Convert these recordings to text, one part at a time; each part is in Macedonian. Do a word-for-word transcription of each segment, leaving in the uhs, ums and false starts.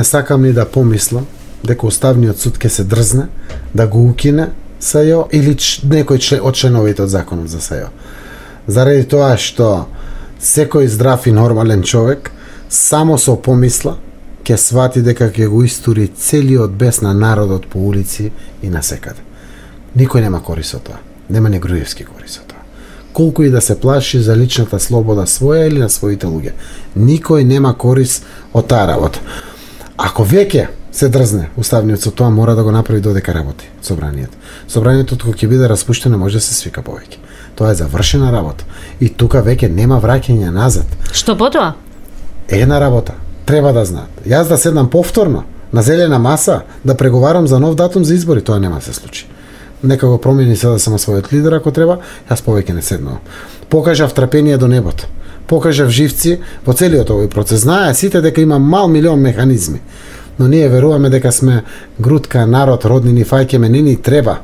сакам ни да помислам дека Уставниот суд ќе се дрзне да го укине СЈО или ч, некој член, од членовите од законот за СЈО. Заради тоа што секој здрав и нормален човек само со помисла ќе свати дека ќе го истури целиот бес на народот по улици и на секаде. Никој нема корис од тоа. Нема ни Груевски корис од тоа. Колку и да се плаши за личната слобода своја или на своите луѓе. Никој нема корис од таа работа. Ако веќе се дрзне Уставниот суд, тоа мора да го направи додека работи собранието. Собранието кога ќе биде распуштено може да се свика повеќе. Тоа е завршена работа. И тука веќе нема враќање назад. Што потоа? Една работа. Треба да знаат. Јас да седнам повторно на зелена маса да преговарам за нов датум за избори, тоа нема да се случи. Нека го промени се да сама својот лидер ако треба, јас повеќе не седнувам. Покажав трпение до небото. Покажав живци во целиот овој процес. Знае сите дека има мал милион механизми. Но ние веруваме дека сме грудка, народ, роднини, фаќеме, не ни треба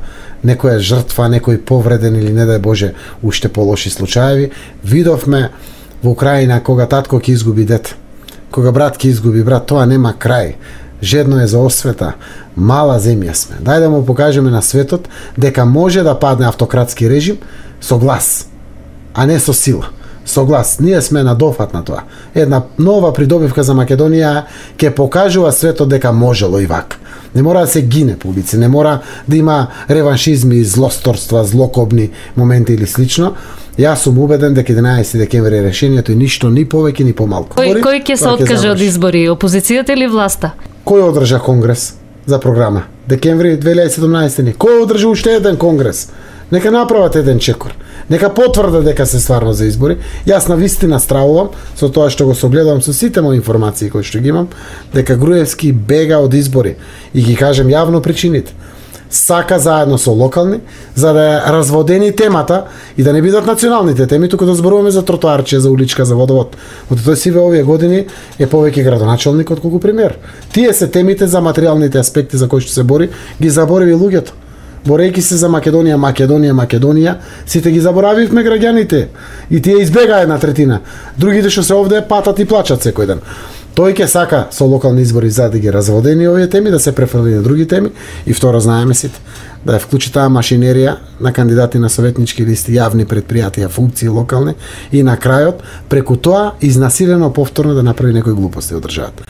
некоја жртва, некој повреден или не дај Боже уште полоши случаеви. Видовме во Украина кога татко ќе изгуби дете, кога брат ќе изгуби брат, тоа нема крај. Жедно е за освета, мала земја сме. Дај да му покажеме на светот дека може да падне автократски режим со глас, а не со сила. Со глас. Ние сме на дофат на тоа. Една нова придобивка за Македонија ќе покажува светот дека можело и вака. Не мора да се гине по улици, не мора да има реваншизми, злосторства, злокобни моменти или слично. Јас сум убеден дека единаесети декември е решението и ништо ни повеќе ни помалку. Кој, кој ќе се откаже од избори, опозицијата или власта? Кој одржа конгрес за програма? Декември две илјади и седумнаесета. Кој одржа уште еден конгрес? Нека направат еден чекор. Нека потврдат дека се стварно за избори. Јас на вистина стравувам со тоа што го согледувам со сите мои информации кои што ги имам, дека Груевски бега од избори и ги кажем јавно причините. Сака заедно со локални за да ја разводени темата и да не бидат националните теми, туку да зборуваме за тротоарче, за уличка, за водовод. Од тој си во овие години е повеќе градоначалник отколку премиер. Тие се темите за материјалните аспекти за кои што се бори, ги заборави луѓето. Борејќи се за Македонија, Македонија, Македонија, сите ги заборавивме граѓаните и тие избегаа една третина. Другите што се овде патат и плачат секој ден. Тој ќе сака со локални избори за да ги разводени овие теми, да се префрли на други теми и второ знаеме сите да ја вклучи таа машинерија на кандидати на советнички листи, јавни предпријатија, функции локални и на крајот преку тоа изнасилено повторно да направи некои глупости од државата.